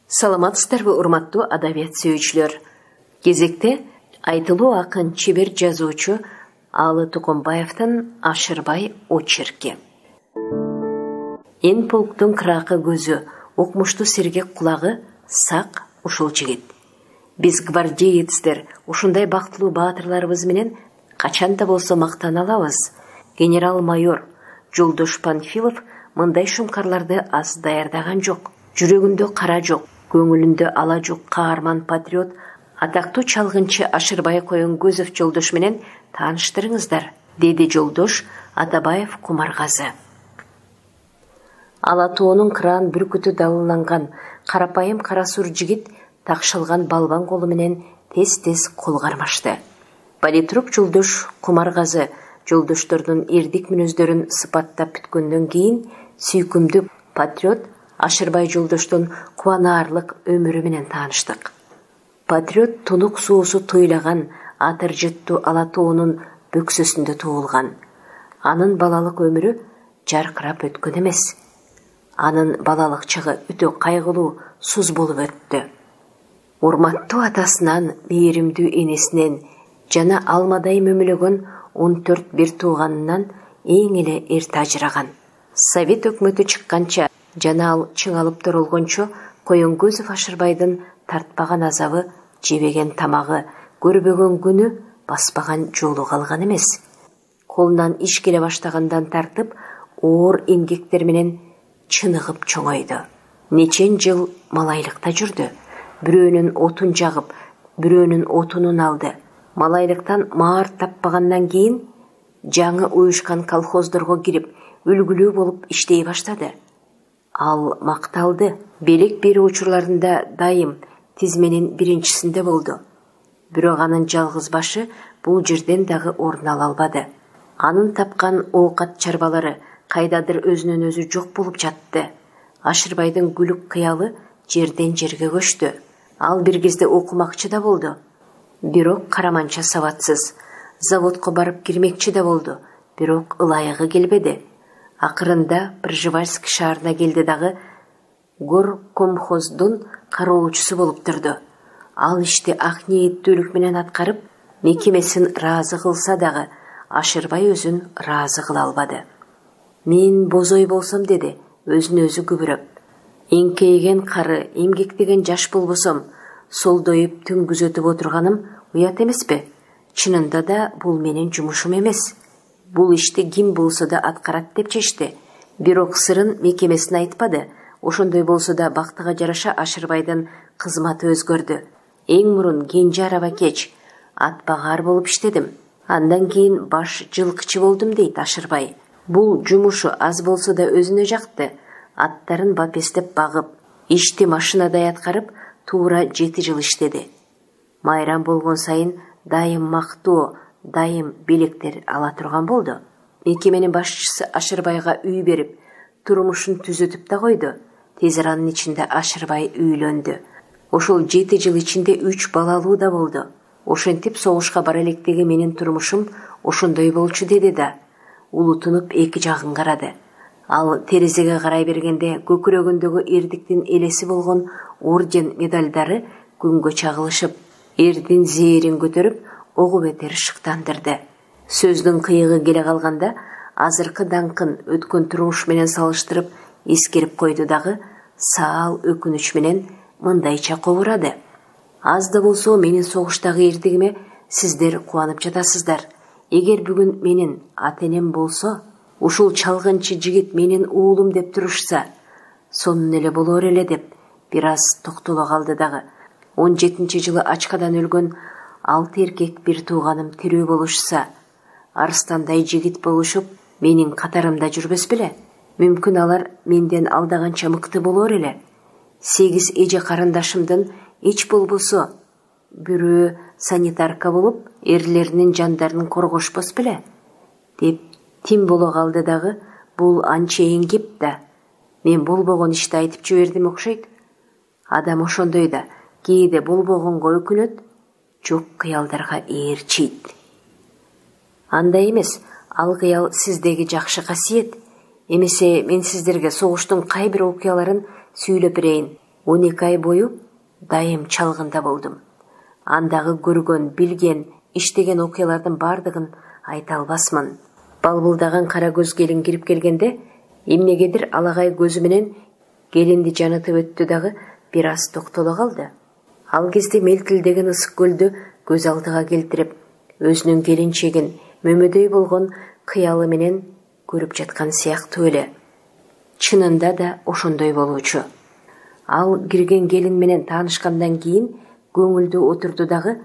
Саламатсыздарбы, урматтуу адабият сүйүүчүлөр. Кезекте айтылуу акын, чебер жазуучу Алы Тукумбаевдин Ашырбай очерки. Эн полктун кыракы көзү, укмуштуу сергек кулагы, сак ушул жигит. Биз гвардеецтер ушундай бактылуу баатырларыбыз менен качанда болсо мактана алабыз. Генерал-майор Жолдош Панфилов мындай шумкарларды аз даярдаган жок. Жүрөгүндө кара жок, көңүлүндө ала жок каарман патриот атактуу чалгынчы Ашырбай Коенгөзов Жолдош менен тааныштырыңыздар, деди Жолдош Атабаев Кумаргазы. Ала тоонун кыраан бүркүтү далыланган карапайым кара сур жигит такшылган балбан колу менен тез-тез кол кармашты. Политрук Жолдош Кумаргазы Жолдоштордун эрдик мүнөздөрүн сыпаттап бүткөндөн кийин сүйкүмдүү патриот Ашырбай Жолдоштун кубанаарлык өмүрү менен тааныштык. Патриот тунук суусу туйлаган атыр жыттуу ала тоонун бөксөсүндө туулган. Анын балалык өмүрү жаркырап өткөн эмес. Анын балалык чагы өтө кайгылуу, суз болуп өттү. Урматтуу атасынан, мээримдүү энесинен жана алмадай мөмөлөгөн 14 бир тууганынан эң эле эрте ажыраган. Совет өкмөтү чыкканча жана ал чыңалып торолгончо Коенгөзов Ашырбайдын тартпаган азабы, жебеген тамагы, көрбөгөн күнү, баспаган жолу калган эмес. Колунан иш келе баштагандан тартып, оор эмгектер менен чыныгып чоңойду. Нечен жыл малайлыкта жүрдү. Бирөөнүн отун жагып, бирөөнүн отунун алды. Малайлыктан маар таппагандан кийин жаңы уюшкан колхоздорго кирип, үлгүлүү болуп иштей баштады. Ал макталды. Белек берүү учурларында дайым тизменин биринчисинде болду. Бирок анын жалгыз башы бул жерден дагы орун ала албады. Анын тапкан оокат чарбалары кайдадыр өзүнөн өзү жок болуп жатты. Ашырбайдын күлүк кыялы жерден жерге көчтү. Ал бир кезде окумакчы да болду. Бирок караманча сабатсыз. Заводко барып кирмекчи да болду. Бирок ылайыгы келбеди. Акырында Пржевальск шаарына келди дагы горкомхоздун кароочусу болуп турду. Ал ишти ак ниеттүүлүк менен аткарып, мекемесин ыраазы кылса дагы Ашырбай өзүн ыраазы кыла албады. Мен бозой болсом, деди, өзүн өзү күбүрөп. Эңкейген кары, эмгектеген жаш болбосом, солдоюп түн күзөтүп отурганым уят эмеспи? Чынында да бул менин жумушум эмес. Бул ишти ким болсо да аткарат деп чечти. Бирок сырын мекемесине айтпады. Ошондой болсо да бактыга жараша Ашырбайдын кызматы өзгөрдү. Эң мурун кенже арабакеч, атбагар болуп иштедим. Андан кийин баш жылкычы болдум, дейт Ашырбай. Бул жумушу аз болсо да өзүнө жакты. Аттарын бапестеп багып, ишти машинадай аткарып, туура 7 жыл иштеди. Майрам болгон сайын дайым мактоо, дайым белектер ала турган болду. Мекеменин башчысы Ашырбайга үй берип, турмушун түзөтүп да койду. Тез аранын ичинде Ашырбай үйлөндү. Ошол 7 жыл ичинде 3 балалуу да болду. Ошентип согушка бара электеги менин турмушум ошондой болчу, деди да. Улутунуп эки жагын карады. Ал терезеге карай бергенде көкүрөгүндөгү эрдиктин элеси болгон орден медалдары күнгө чагылышып, эрдин зээрин көтөрүп, огу бетер шыктандырды. Сөздүн кыйыгы келе калганда, азыркы даңкын өткөн турмуш менен салыштырып эскерип койду дагы, саал өкүнүч менен мындайча кобурады. Аз да болсо менин согуштагы эрдигиме сиздер кубанып жатасыздар. Эгер бүгүн менин ата-энем болсо, ушул чалгынчы жигит менин уулум деп турушса, сонун эле болор эле, деп бир аз токтоло калды дагы. 17-жылы ачкадан өлгөн 6 эркек бир тууганым тирүү болушса, арстандай жигит болушуп, менин катарымда жүрбөс беле? Мүмкүн алар менден алдаганча мыкты болор эле. 8 эже карындашымдын эч болбосо бирөө санитарка болуп, эрлеринин жандарын коргошпос беле? Деп тим боло калды дагы. Бул анчейин кеп да. Мен болбогон ишти айтып жибердим окшойт. Адам ошондой да, кээде болбогонго өкүнөт, жок кыялдарга ээрчийт. Андай эмес, ал кыял сиздеги жакшы касиет. Эмесе мен сиздерге согуштун кай бир окуяларын сүйлөп берейин. 12 ай бою дайым чалгында болдум. Андагы көргөн, билген, иштеген окуялардын бардыгын айта албасмын. Балбылдаган кара көз келин кирип келгенде эмнегедир алагай көзү менен келинди жанытып өттү дагы бир аз токтоло калды. Ал кезде мелтилдеген ысык көлдү көз алдыга келтирип, өзүнүн келинчегин мөмөдөй болгон кыялы менен көрүп жаткан сыяктуу эле. Чынында да ошондой болуучу. Ал кирген келин менен таанышкандан кийин көңүлдүү отурду дагы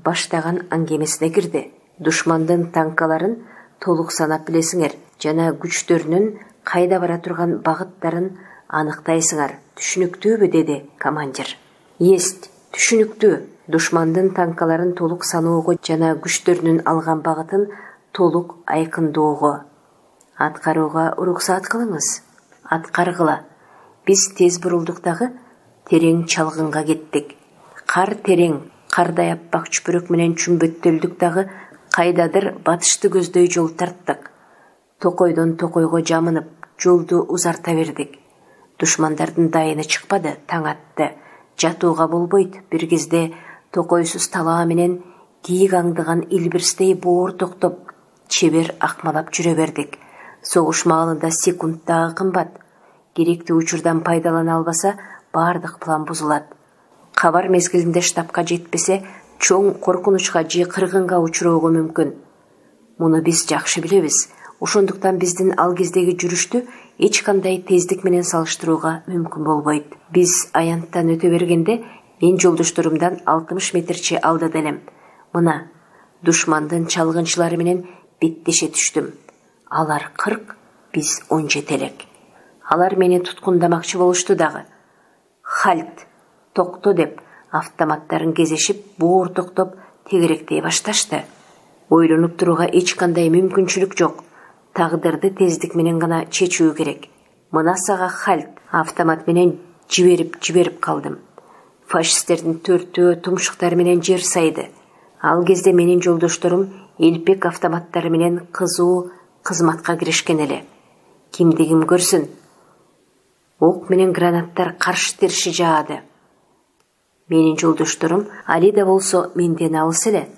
баштаган аңгемесине кирди. Душмандын танкаларын толук санап билесиңер жана күчтөрүнүн кайда бара турган багыттарын аныктайсыңар. Түшүнүктүүбү, деди командир. Есть, түшүнүктүү. Душмандын танкаларын толук саноого жана күчтөрүнүн алган багытын толук айкындоого. Аткарууга уруксаат кылыңыз. Аткаргыла. Биз тез бурулдук дагы терең чалгынга кеттик. Кар терең, кардай аппак чүпүрөк менен чүмбөттөлдүк дагы кайдадыр батышты көздөй жол тарттык. Токойдон токойго жамынып, жолду узарта бердик. Душмандардын дайыны чыкпады, таң атты. Жатууга болбойт. Бир кезде токойсуз талаа менен кийик аңдыган илбирстей боор токтоп, чебер акмалап жүрө бердик. Согуш маалында секунд дагы кымбат. Керектүү учурдан пайдалана албаса, бардык план бузулат. Кабар мезгилинде штабка жетпесе, чоң коркунучка же кыргынга учуроого мүмкүн. Муну биз жакшы билебиз. Ошондуктан биздин ал кездеги жүрүштү эч кандай тездик менен салыштырууга мүмкүн болбойт. Биз аянттан өтө бергенде мен жолдошторумдан 60 метрче алдыда элем. Мына, душмандын чалгынчылары менен беттеше түштүм. Алар 40, биз 17 элек. Алар мени туткундамакчы болушту дагы. Хальт, токто деп автоматтарын кезешип, боор токтоп тегеректей башташты. Ойлонуп турууга эч кандай мүмкүнчүлүк жок. Тагдырды тездик менен гана чечүү керек. Мына сага хальт, автомат менен жиберип калдым. Фашисттердин төртөө тумшуктары менен жер сайды. Ал кезде менин жолдошторум элпек автоматтары менен кызуу кызматка киришкен эле. Кимдигим көрсүн. Ок менен гранаттар каршы терши жаады. Менин жолдошторум али да болсо менден алыс эле.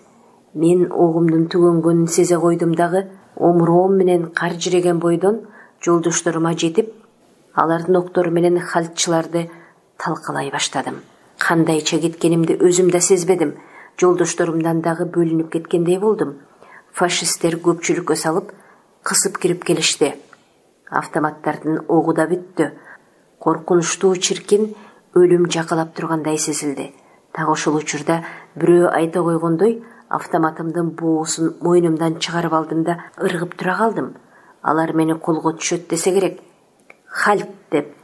Мен огумдун түгөнгөнүн сезе койдум дагы, омуроом менен кар жиреген бойдон жолдошторума жетип, алардын октору менен хальтчыларды талкалай баштадым. Кандайча кеткенимди өзүм да сезбедим. Жолдошторумдан дагы бөлүнүп кеткендей болдум. Фашисттер көпчүлүккө салып, кысып кирип келишти. Автоматтардын огу да бүттү. Коркунучтуу чиркин өлүм жакалап тургандай сезилди. Так ошол учурда бирөө айта койгондой, автоматымдын боосун мойнумдан чыгарып алдым да ыргып тура калдым. Алар мени колго түшөт десе керек. Хальт деп.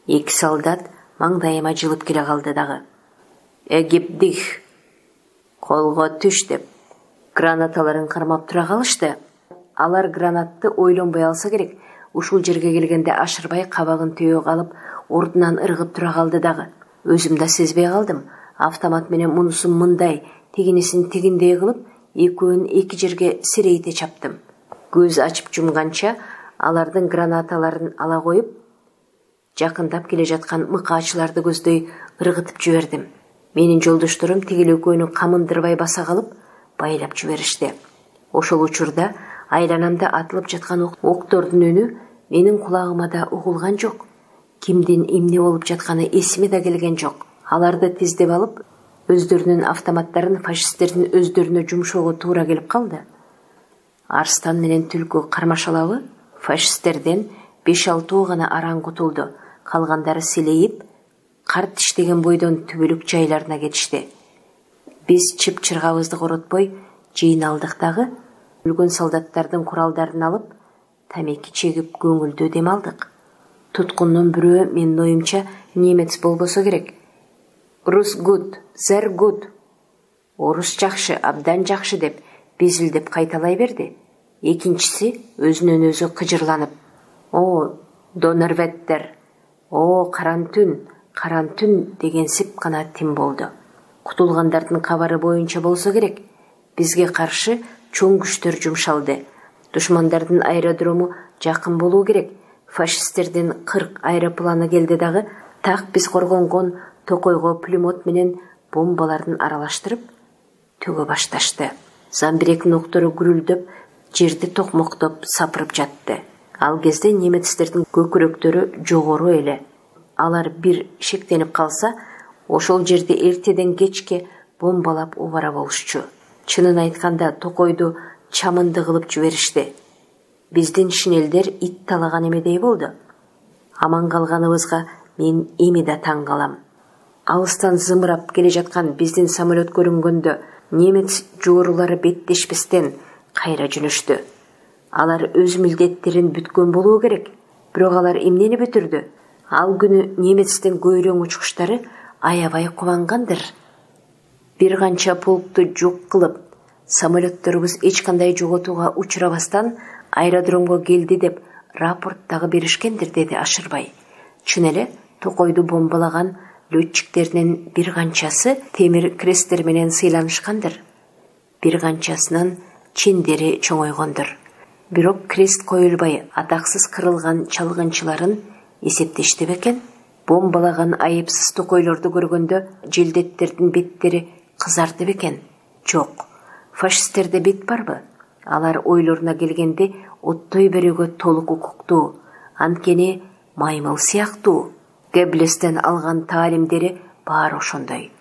Эки солдат маңдайыма жылып келе калды дагы. Эгипдих. Колго түш деп. Гранаталарын кармап тура калышты. Алар гранатты ойлонбой алса керек. Ушул жерге келгенде ашырбай кабагын төбөгө алып, ордунан ыргып тура калды дагы. Өзүм да сезбей калдым. Автомат менен мунусун мындай, тегинесин тегиндей кылып, экөөнүн эки жерге серейте чаптым. Көз ачып жумганча алардын гранаталарын ала коюп, жакындап келе жаткан мыкаачыларды көздөй ыргытып жибердим. Менин жолдошторум тигил экөөнү камындырбай баса калып, байлап жиберишти. Ошол учурда айланамда атылып жаткан октордун үнү менин кулагыма да угулган жок. Кимдин эмне болуп жатканы эсиме да келген жок. Аларды тездеп алып, өздөрүнүн автоматтарын фашисттердин өздөрүнө жумшоого туура келип калды. Арстан менен түлкү кармашалабы фашисттерден 5-6 гана араң кутулду. Калгандары силейип, кар тиштеген бойдон түбөлүк жайларына кетишти. Биз чып-чыргабызды коротпой жыйналдык дагы, өлгөн солдаттардын куралдарын алып, тамеки чегип көңүлдүү дем алдык. Туткундун бирөө менин оюмча немец болбосо керек. Рус гуд, зер гуд. Орус жакшы, абдан жакшы деп безилдеп кайталай берди. Экинчиси өзүнөн өзү кыжырланып: "О, Донерветтер! О, карантүн" дегенсип гана тим болду. Кутулгандардын кабары боюнча болсо керек, бизге каршы чоң күчтөр жумшалды. Душмандардын аэродрому жакын болуу керек. Фашисттердин 40 аэропланы келди дагы, Так биз коргонгон токойго пулемет менен бомбаларын аралаштырып төгө башташты. Замбиректин октору гүрүлдөп, жерди токмоктоп сапырып жатты. Ал кезде немецтердин көкүрөктөрү жогору эле. Алар бир шектенип калса, ошол жерди эртеден кечке бомбалап убара болушчу. Чынын айтканда токойду чамынды кылып жиберишти. Биздин шинелдер ит талаган эмедей болду. Аман калганыбызга мен эми да таң калам. Алыстан зымырап келе жаткан биздин самолет көрүнгөндө немец жоорулары беттешпестен кайра жөнөштү. Алар өз милдеттерин бүткөн болуу керек. Бирок алар эмнени бүтүрдү? Ал күнү немецтин көйрөң учкучтары аябай кубангандыр. Бир канча полкту жок кылып, самолетторубуз эч кандай жоготууга учурабастан аэродромго келди деп рапорт дагы беришкендир, деди Ашырбай. Чын эле токойду бомбалаган летчиктеринин бир канчасы темир кресттер менен сыйланышкандыр. Бир канчасынын чендери чоңойгондур. Бирок крест коюлбай атаксыз кырылган чалгынчыларын эсептешти бекен? Бомбалаган айыпсыз токойлорду көргөндө желдеттердин беттери кызарды бекен? Жок. Фашисттерде бет барбы? Алар ойлоруна келгенде оттой берүүгө толук укуктуу. Анткени маймыл сыяктуу. Геббелестен алган таалимдери баары ошондой.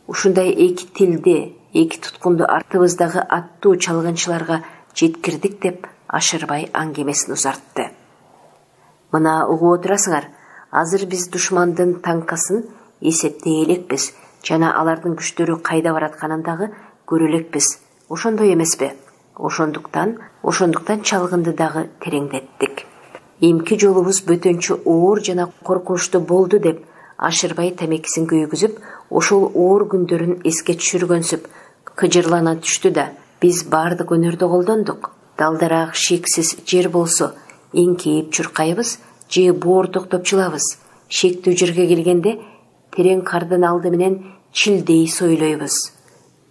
Ушундай эки тилде, эки туткунду артыбыздагы аттуу чалгынчыларга жеткирдик деп Ашырбай аңгемесин узартты. Мына угуп отурасыңар, азыр биз душмандын танкасын эсептей элекпиз жана алардын күчтөрү кайда баратканын дагы көрө элекпиз. Ошондой эмеспи? Ошондуктан чалгынды дагы тереңдеттик. Эмки жолубуз бөтөнчө оор жана коркунучтуу болду деп Ашырбай тамекисин күйгүзүп, ошол оор күндөрүн эске түшүргөнсүп кыжырлана түштү да: биз баардык өнөрдү колдондук. Далдараак шексиз жер болсо эңкейип чуркайбыз же боор токтоп жылабыз. Шектүү жерге келгенде терең кардын алды менен чилдей сойлойбуз.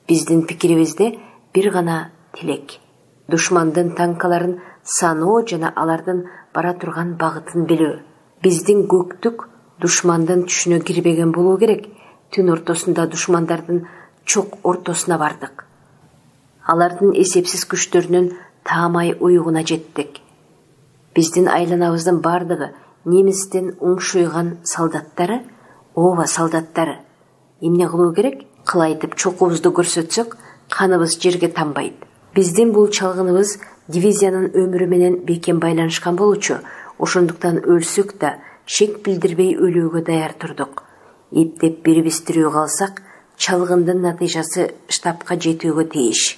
Биздин пикирибизде бир гана тилек: душмандын танкаларын саноо жана алардын бара турган багытын билүү. Биздин көктүк душмандын түшүнө кирбеген болуу керек. Түн ортосунда душмандардын чок ортосуна бардык. Алардын эсепсиз күчтөрүнүн таамай уюгуна жеттик. Биздин айланабыздын бардыгы немистин уңшуйган солдаттары, ооба солдаттары. Эмне кылуу керек? Кылайтып чокубузду көрсөтсөк, каныбыз жерге тамбайт. Биздин бул чалгыныбыз дивизиянын өмүрү менен бекем байланышкан болчу. Ошондуктан өлсөк да шек билдирбей өлүүгө даяр турдук. Эптеп бирибиз тирүү калсак, чалгындын натыйжасы штабка жетүүгө тийиш.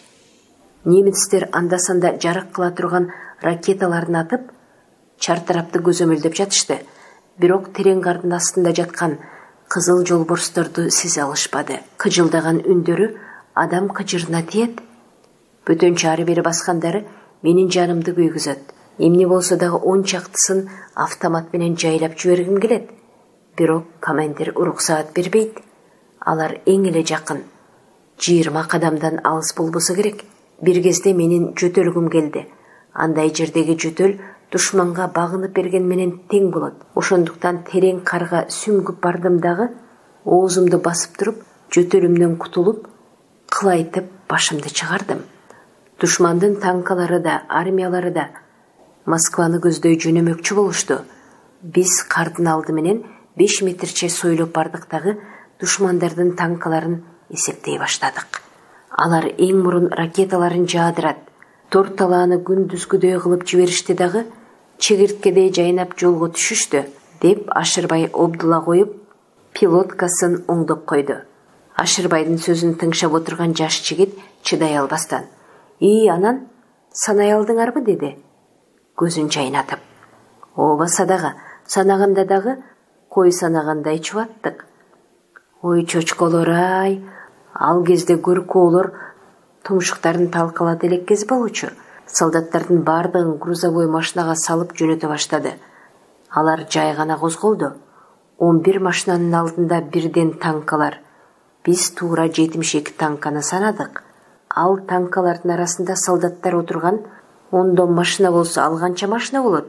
Немецтер анда-санда жарык кыла турган ракеталарын атып, чартарапты көзөмөлдөп жатышты. Бирок терең кардын астында жаткан кызыл жолборсторду сезе алышпады. Кыжылдаган үндөрү адам кыжырына тиет. Бөтөнчө ары бери баскандары менин жанымды күйгүзөт. Эмне болсо дагы 10 чактысын автомат менен жайлап жибергим келет. Бирок командир уруксаат бербейт. Алар эң эле жакын, 20 кадамдан алыс болбосо керек. Бир кезде менин жөтөлгүм келди. Андай жердеги жөтөл душманга багынып берген менен тең болот. Ошондуктан терең карга сүңгүп бардым дагы, оозумду басып туруп, жөтөлүмдөн кутулуп, кылайтып башымды чыгардым. Душмандын танкалары да, армиялары да Москваны көздөй жөнөмөкчү болушту. Биз кардын алды менен 5 метрче сойлоп бардык дагы душмандардын танкаларын эсептей баштадык. Алар эң мурун ракеталарын жаадырат. Торт талааны күндүзгүдөй кылып жиберишти дагы чегирткедей жайнап жолго түшүштү, деп Ашырбай обдула коюп, пилоткасын оңдоп койду. Ашырбайдын сөзүн тыңшап отурган жаш жигит чыдай албастан: анан санай алдыңарбы?" деди, көзүн чайнатып. "Ооба садага, санаганда дагы кой санагандай чубаттык." "Ой чочколор-ай, ал кезде көркөөлөр тумшуктарын талкалат элеккез болчу." Солдаттардын бардыгын грузовой машинага салып жөнөтө баштады. Алар жай гана козголду. 11 машинанын алдында бирден танкалар. Биз туура 72 танканы санадык. Ал танкалардын арасында солдаттар отурган 10 машина болсо, ал канча машина болот?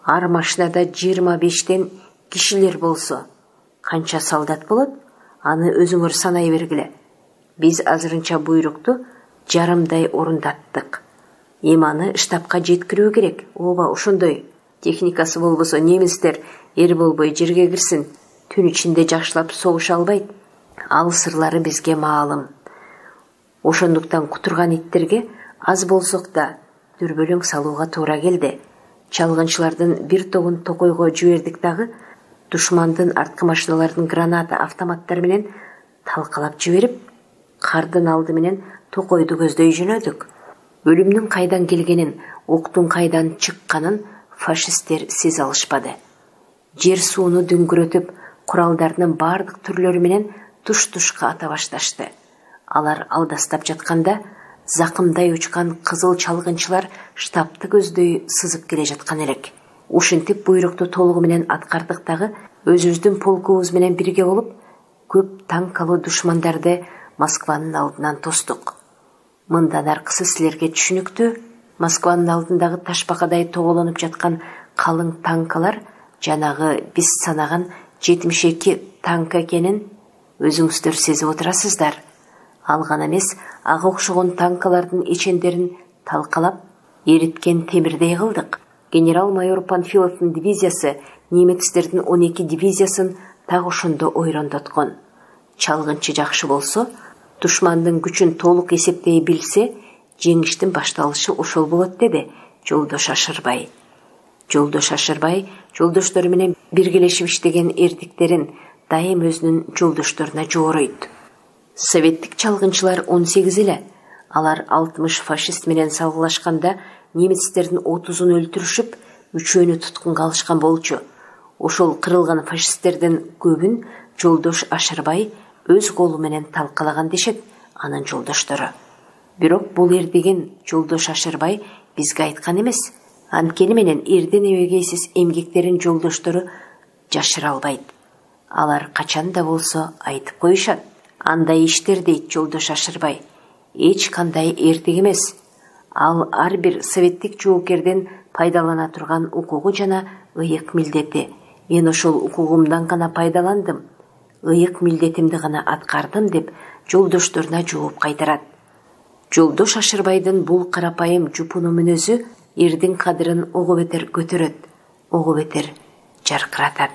Ар машинада 25тен кишилер болсо, канча солдат болот, аны өзүңөр санай бергиле. Биз азырынча буйрукту жарымдай орундаттык. Эми аны штабка жеткирүү керек. Ооба, ошондой. Техникасы болбосо немистер эр болбой жерге кирсин. Түн ичинде жакшылап согуша албайт. Ал сырлары бизге маалым. Ошондуктан кутурган иттерге аз болсок да дүрбөлөң салууга туура келди. Чалгынчылардын бир тобун токойго жибердик дагы, душмандын арткы машиналарын граната автоматтары менен талкалап жиберип, кардын алды менен токойду көздөй жөнөдүк. Өлүмдүн кайдан келгенин, октун кайдан чыкканын фашисттер сезе алышпады. Жер сууну дүңгүрөтүп, куралдарынын бардык түрлөрү менен туш-тушка ата башташты. Алар алдастап жатканда, закымдай учкан кызыл чалгынчылар штабты көздөй сызып келе жаткан элек. Ушинтип буйрукту толугу менен аткардык дагы, өзүбүздүн полкубуз менен бирге болуп, көп танкалуу душмандарды Москванын алдынан тостук. Мындан аркысы силерге түшүнүктүү. Москванын алдындагы ташбакадай тоголонуп жаткан калың танкалар жанагы биз санаган 72 танк экенин өзүңүздөр сезип отурасыздар. Ал гана эмес, ага окшогон танкалардын ичендерин талкалап, эриткен темирдей кылдык. Генерал-майор Панфиловдун дивизиясы немецтердин 12 дивизиясын так ошондо ойрондоткон. Чалгынчы жакшы болсо, душмандын күчүн толук эсептей билсе, жеңиштин башталышы ошол болот, деди Жолдош Ашырбай. Жолдош Ашырбай жолдоштору менен биргелешип иштеген эрдиктерин дайым өзүнүн жолдошторуна жооройт. Советтик чалгынчылар 18 эле. Алар 60 фашист менен салгылашканда немецтердин 30-ун өлтүрүшүп, 3-өөнү туткунга алышкан болчу. Ошол кырылган фашисттердин көбүн Жолдош Ашырбай өз колу менен талкалаган дешет анын жолдоштору. Бирок бул эрдеген Жолдош Ашырбай бизге айткан эмес. Анткени менен эрден эбегейсиз эмгектерин жолдоштору жашыра албайт. Алар качан да болсо айтып коюшат. Андай иштер, дейт Жолдош Ашырбай, эч кандай эртек эмес. Ал ар бир советтик жоокерден пайдалана турган укугу жана ыйык милдети. Мен ошол укугумдан гана пайдаландым, ыйык милдетимди гана аткардым, деп жолдошторуна жооп кайтарат. Жолдош Ашырбайдын бул карапайым жупуну мүнөзү эрдин кадырын ого бетер көтөрөт, ого бетер жаркыратат.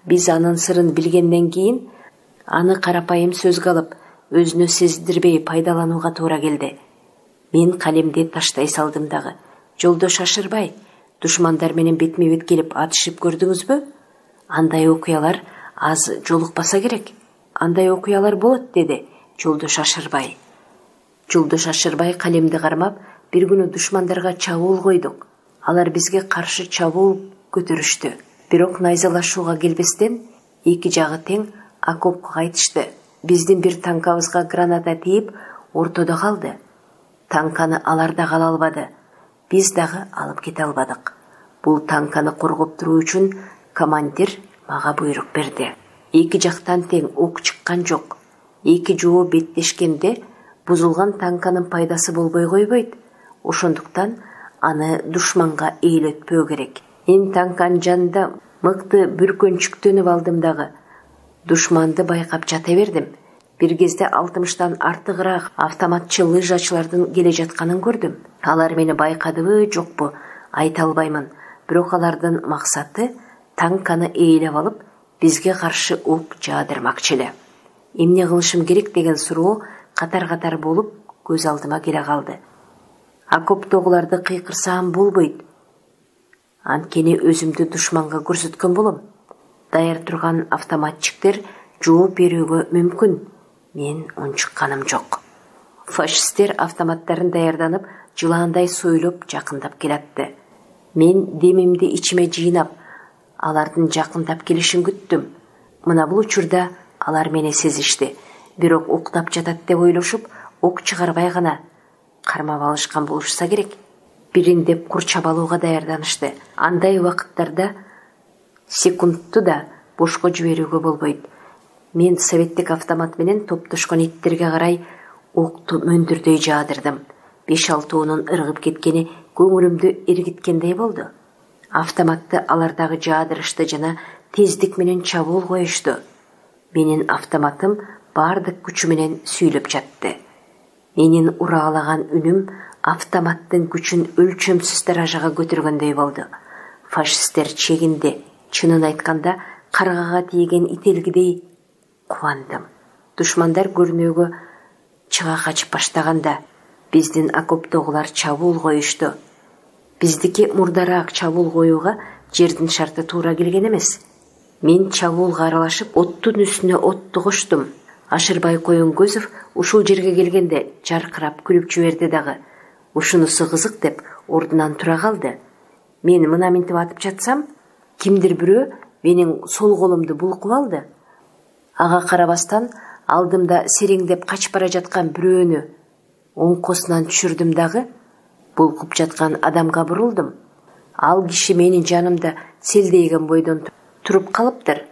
Биз анын сырын билгенден кийин аны карапайым сөзгө алып, өзүнө сездирбей пайдаланууга туура келди. Мен калемди таштай салдым дагы. Жолдош Ашырбай, душмандар менен бетме-бет келип атышып көрдүңүзбү? Андай окуялар аз жолукпаса керек. Андай окуялар болот, деди Жолдош Ашырбай. Жолдош Ашырбай калемди кармап, бир күнү душмандарга чабуул койдук. Алар бизге каршы чабуул көтөрүштү. Бирок найзалашууга келбестен эки жагы тең окопко кайтышты. Биздин бир танкабызга граната тийип, ортодо калды. Танканы алар да кала албады. Биз дагы алып кете албадык. Бул танканы коргоп туруу үчүн командир мага буйрук берди. Эки жактан тең ок чыккан жок. Эки жоо беттешкенде бузулган танканын пайдасы болбой койбойт. Ошондуктан аны душманга ээлетпөө керек. Мен танканын жанында мыкты бүркөнчүктөнүп алдым дагы. Душманды байкап жата бердим. Бир кезде 60тан артыгыраак автоматчы лыжачылардын келе жатканын көрдүм. Алар мени байкадыбы, жокпу, айта албаймын. Бирок алардын максаты танканы ээлеп алып, бизге каршы ок жаадырмакчы эле. Эмне кылышым керек деген суроо катар-катар болуп көз алдыма келе калды. Окоптогуларды кыйкырсам болбойт. Анткени өзүмдү душманга көрсөткөн болом. Даяр турган автоматчиктер жооп берүүгө мүмкүн. Мен унчукканым жок. Фашисттер автоматтарын даярданып, жылаандай сойлоп жакындап келатты. Мен демимди ичиме жыйнап, алардын жакындап келишин күттүм. Мына бул учурда алар мени сезишти. Бирок уктап жатат деп ойлошуп, ок чыгарбай гана кармап алышкан болушса керек. Бириндеп кур чабалууга даярданышты. Андай убакыттарда секундту да бошко жиберүүгө болбойт. Мен советтик автомат менен топтошкон иттерге карай окту мөндүрдөй жаадырдым. 5-6-унун ыргып кеткени көңүлүмдү эргиткендей болду. Автоматты алар дагы жаадырышты жана тездик менен чабуул коюшту. Менин автоматым бардык күчү менен сүйлөп жатты. Менин урагалаган үнүм автоматтын күчүн өлчөмсүз даражага көтөргөндөй болду. Фашисттер чегинди. Чынын айтканда, каргага тийген ителгидей кубандым. Душмандар көрнөөгө чыга качып баштаганда биздин окоптогулар чабуул коюшту. Биздики мурдараак чабуул коюуга жердин шарты туура келген эмес. Мен чабуулга аралашып, оттун үстүнө отту коштум. Ашырбай Коюңкөзов ушул жерге келгенде жаркырап күлүп жиберди дагы. Ушунусу кызык деп ордунан тура калды. Мен мына минтип атып жатсам, кимдир бирөө менин сол колумду булкуп алды. Ага карабастан алдымда сереңдеп качып бара жаткан бирөөнү оңкосунан түшүрдүм дагы, булкуп жаткан адамга бурулдум. Ал киши менин жанымда селдейген бойдон туруп калыптыр.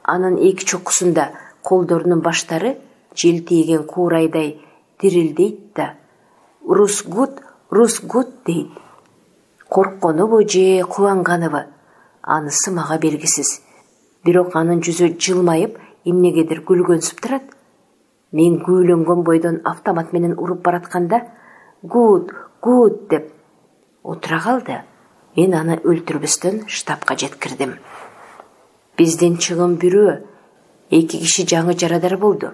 Анын эки чокусунда колдорунун баштары желтийген куурайдай дирилдейт да «Рус гуд» дейт. Коркконубу же кубанганыбы анысы мага белгисиз. Бирок анын жүзү жылмайып, эмнегедир күлгөнсүп турат. Мен күүлөнгөн бойдон автомат менен уруп баратканда «Гуд» деп отура калды. Мен аны өлтүрбөстөн штабка жеткирдим. Бизден чыгым бирөө, 2 киши жаңы жарадар болду.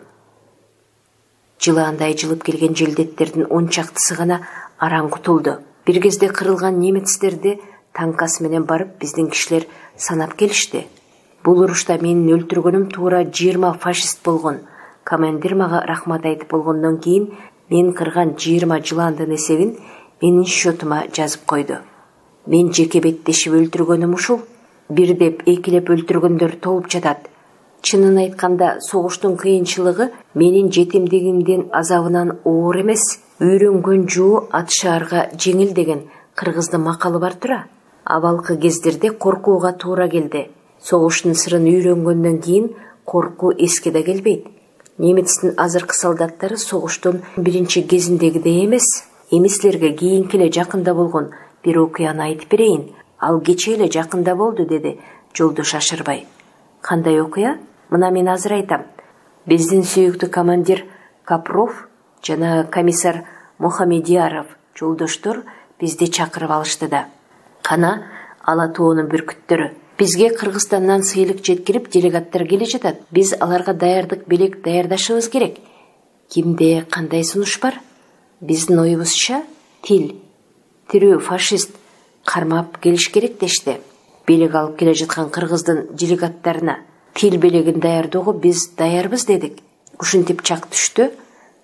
Жылаандай жылып келген желдеттердин 10 чактысы гана араң кутулду. Бир кезде кырылган немецтерди танкасы менен барып биздин кишилер санап келишти. Бул урушта менин өлтүргөнүм туура 20 фашист болгон. Командир мага рахмат айтып болгондон кийин мен кырган 20 жыландын эсебин менин счетума жазып койду. Мен жеке беттешип өлтүргөнүм ушул. Бир деп экилеп өлтүргөндөр толуп жатат. Чынын айтканда, согуштун кыйынчылыгы менин жетимдигимдин азабынан оор эмес. Үйрөнгөн жоо атышаарга жеңил деген кыргыздын макалы бар тура. Абалкы кездерде коркууга туура келди. Согуштун сырын үйрөнгөндөн кийин коркуу эске да келбейт. Немецтин азыркы солдаттары согуштун биринчи кезиндегидей эмес. Эмислерге кийинки эле жакында болгон бир окуяны айтып берейин. Ал кечээ эле жакында болду, деди Жолдош Ашырбай. Кандай окуя? Мына мен азыр айтам. Биздин сүйүктүү командир Капров жана комиссар Мухамедияров жолдоштор бизди чакырып алышты да. Кана Ала тоонун бүркүттөрү. Бизге Кыргызстандан сыйлык жеткирип делегаттар келе жатат. Биз аларга даярдык белек даярдашыбыз керек. Кимде кандай сунуш бар? Биздин оюбузча тил. Тирүү фашист кармап келиш керек дешти. Белек алып келе жаткан кыргыздын делегаттарына тил белегин даярдоого биз даярбыз дедик. Ушинтип чак түштү.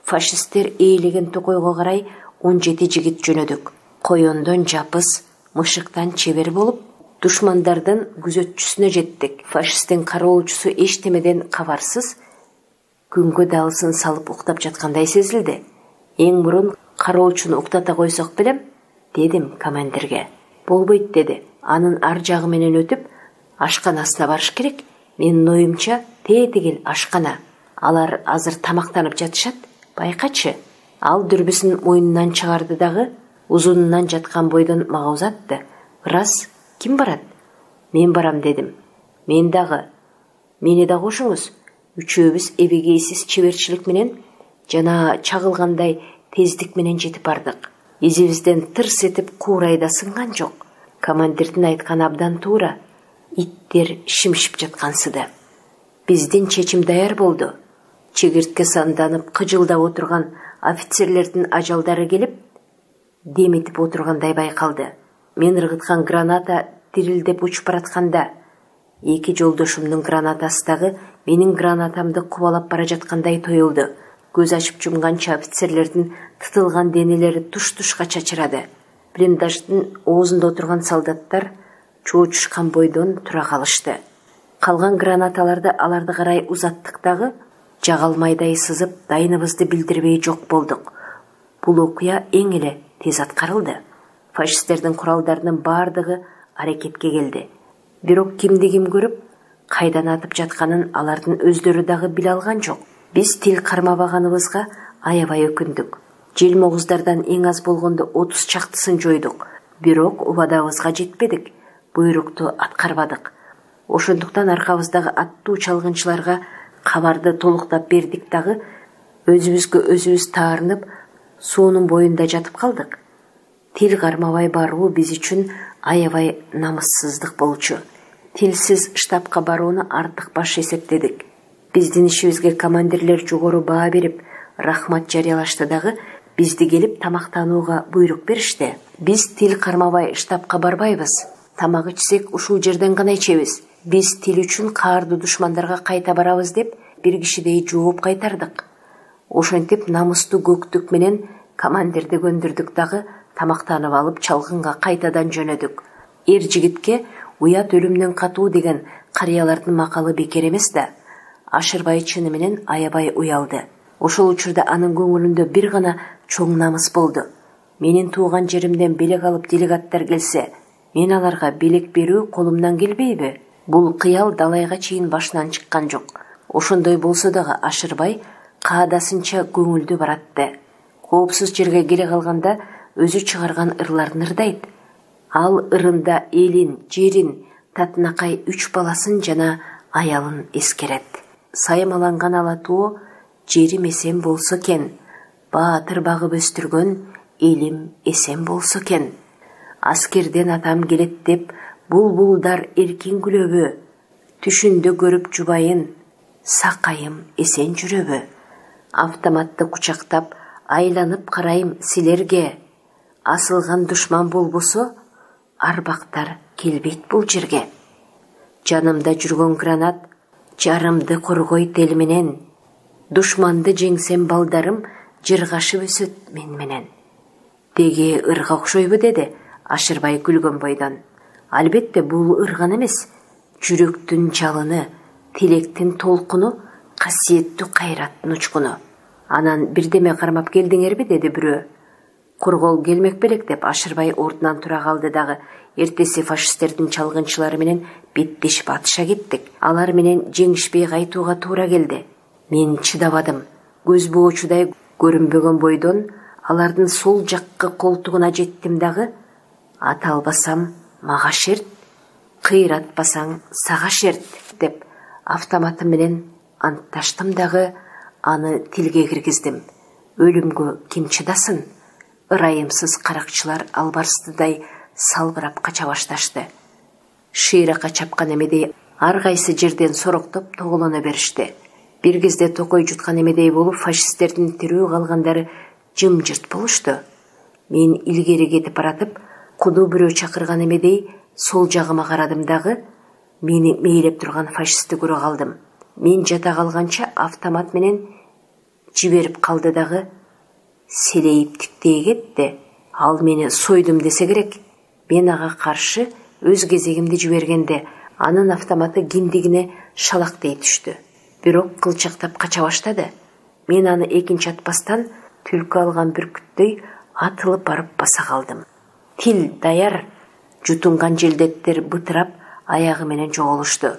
Фашисттер ээлеген токойго карай 17 жигит жөнөдүк. Коёндон жапыс, мышыктан чебер болуп, душмандардын күзөтчүсүнө жеттик. Фашисттин кароолчусу эчтемеден кабарсыз күнгө далысын салып уктап жаткандай сезилди. Эң мурун кароолчуну уктата койсок белем, дедим командирге. Болбойт, деди. Анын ар жагы менен өтүп, ашканасына барыш керек. Менин оюмча, тетигил ашкана. Алар азыр тамактанып жатышат. Байкачы. Ал дүрбүсүн мойнунан чыгарды дагы, узунунан жаткан бойдон мага узатты. Раз, ким барат? Мен барам, дедим. Мен дагы. Мени да кошуңуз. Үчөөбүз эбегейсиз чеберчилик менен жана чагылгандай тездик менен жетип бардык. Изибизден тырс этип куурайда сынган жок. Командирдин айтканы абдан туура. Иттер шимшип жаткансыды. Биздин чечим даяр болду. Чегиртке санданып кыжылдап отурган офицерлердин ажалдары келип, деметип отургандай байкалды. Мен ыргыткан граната дирилдеп учуп баратканда, эки жолдошумдун гранатасы дагы менин гранатамды кубалап бара жаткандай тоюлду. Көз ачып жумганча офицерлердин тытылган денелери туш-тушка чачырады. Блиндаждын оозунда отурган солдаттар чоочушкан бойдон тура калышты. Калган гранаталарды аларды карай узаттык дагы, жагалмайдай сызып дайыныбызды билдирбей жок болдук. Бул окуя эң эле тез аткарылды. Фашисттердин куралдарынын бардыгы аракетке келди. Бирок кимди ким көрүп, кайдан атып жатканын алардын өздөрү дагы биле алган жок. Биз тил кармабаганыбызга аябай өкүндүк. Желмогуздардан эң аз болгондо 30 чактысын жойдук. Бирок убадабызга жетпедик. Буйрукту аткарбадык. Ошондуктан аркабыздагы аттуу чалгынчыларга кабарды толуктап бердик дагы өзүбүзгө өзүбүз таарынып суунун боюнда жатып калдык. Тил кармабай баруу биз үчүн аябай намыссыздык болчу. Тилсиз штабка барууну артык баш эсептедик. Биздин ишибизге командирлер жогору баа берип, рахмат жарыялашты дагы бизди келип тамактанууга буйрук беришти. Биз тил кармабай штабка барбайбыз. Тамак ичсек ушул жерден гана ичебиз. Биз тил үчүн каардуу душмандарга кайта барабыз деп бир кишидей жооп кайтардык. Ошентип намыстуу көктүк менен командирди көндүрдүк дагы тамактанып алып чалгынга кайтадан жөнөдүк. Эр жигитке уят өлүмдөн катуу деген карыялардын макалы бекер эмес да. Ашырбай чыны менен аябай уялды. Ошол учурда анын көңүлүндө бир гана чоң намыс болду. Менин тууган жеримден белек алып делегаттар келсе, мен аларга белек берүү колумдан келбейби? Бул кыял далайга чейин башынан чыккан жок. Ошондой болсо дагы Ашырбай каадасынча көңүлдүү баратты. Коопсуз жерге келе калганда өзү чыгарган ырларын ырдайт. Ал ырында элин, жерин, татынакай 3 баласын жана аялын эскерет. Саймаланган ала тоо жерим эсен болсо экен, баатыр багып өстүргөн элим эсен болсо экен. Аскерден атам келет деп булбулдар эркин күлөбү, түшүндө көрүп жубайын, сакайым эсен жүрөбү. Автоматты кучактап айланып карайм силерге, асылган душман болбосо арбактар келбейт бул жерге. Жанымда жүргөн гранат жарымды коргойт эл менен, душманды жеңсем балдарым жыргашып өсөт мен менен. Деги ырга окшойбу деди Ашырбай күлгөн бойдон. Албетте бул ырган эмес, жүрөктүн жалыны, тилектин толкуну, касиеттүү кайраттын учкуну. Анан бирдеме кармап келдиңерби деди бирөө. Кургол келмек белек деп Ашырбай ордунан тура калды дагы. Эртеси фашисттердин чалгынчылары менен беттешип атыша кеттик. Алар менен жеңишпей кайтууга туура келди. Мен чыдабадым. Көз боочудай көрүнбөгөн бойдон алардын сол жаккы колтугуна жеттим дагы. Ата албасам мага шерт, кыйратпасаң сага шерт деп автоматым менен антташтым дагы аны тилге киргиздим. Өлүмгө ким чыдасын? Ырайымсыз каракчылар албарстыдай салбырап кача башташты. Шыйракка чапкан эмедей ар кайсы жерден сороктоп тоголоно беришти. Бир кезде токой жуткан эмедей болуп фашисттердин тирүү калгандары жымжырт болушту. Мен илгери кетип баратып, куду бирөө чакырган эмедей сол жагыма карадым дагы мени мейлеп турган фашистти көрө калдым. Мен жата калганча автомат менен жиберип калды дагы селейип тиктей кетти. Ал мени сойдум десе керек. Мен ага каршы өз кезегимди жибергенде анын автоматы киндигине шалактей түштү. Бирок кылчактап кача баштады. Мен аны экинчи атпастан түлкү алган бүркүттөй атылып барып баса калдым. Тил даяр. Жутунган желдеттер бытырап аягы менен жоголушту.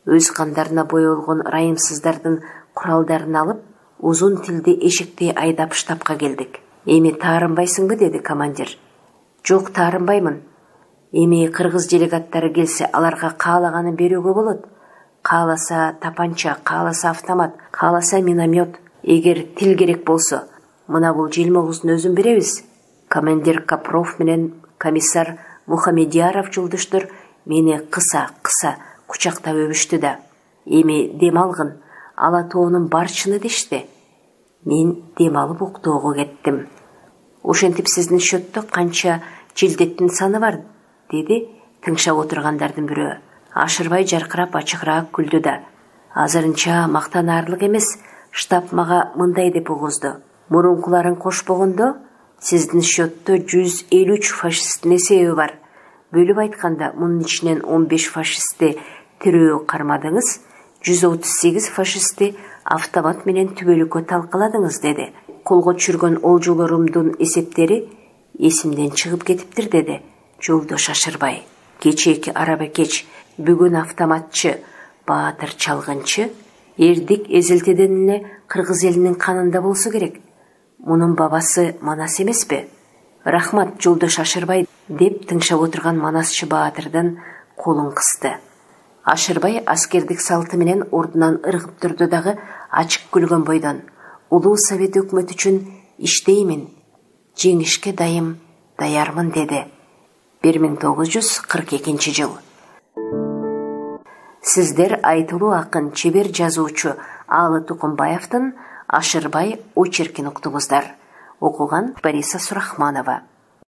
Өз кандарына боелгон ырайымсыздардын куралдарын алып, узун тилди эшектей айдап штабка келдик. Эми таарынбайсыңбы деди командир. Жок, таарынбаймын. Эми кыргыз делегаттары келсе аларга каалаганын берүүгө болот. Кааласа тапанча, кааласа автомат, кааласа миномет. Эгер тил керек болсо, мына бул желмогуздун өзүн беребиз. Командир Капров менен комиссар Мухамедияров жолдоштор мени кыса кучактап өбүштү да. Эми дем алгын, ала тоонун барчыны дешти. Мен дем алып уктоого кеттим. Ошентип сиздин счеттө канча желдеттин саны бар, деди тыңшап отургандардын бирөө. Ашырбай жаркырап ачыгыраак күлдү да. Азырынча мактанаарлык эмес, штаб мага мындай деп угузду. Мурункуларын кошпогондо сиздин счеттө 153 фашисттин эсеби бар. Бөлүп айтканда мунун ичинен 15 фашистти тирөө кармадыңыз, 138 фашистти автомат менен түбөлүккө талкаладыңыз деди. Колго түшүргөн олжолорумдун эсептери эсимден чыгып кетиптир деди жолдош Ашырбай. Кечээки араба кеч бүгүн автоматчы, баатыр чалгынчы, эрдик эзилтеден эле кыргыз элинин канында болсо керек. Мунун бабасы Манас эмеспи? Рахмат жолдош Ашырбай деп тыңшап отурган Манасчы баатырдын колун кысты. Ашырбай аскердик салты менен ордунан ыргып турду дагы ачык күлгөн бойдон: улуу совет өкмөтү үчүн иштеймин, жеңишке даярмын деди. 1942 жыл. Сиздер айтылуу акын, чебер жазуучу Алы Тукумбаевдин Ашырбай очеркин уктуңуздар. Окуган Бориса Сурахманова.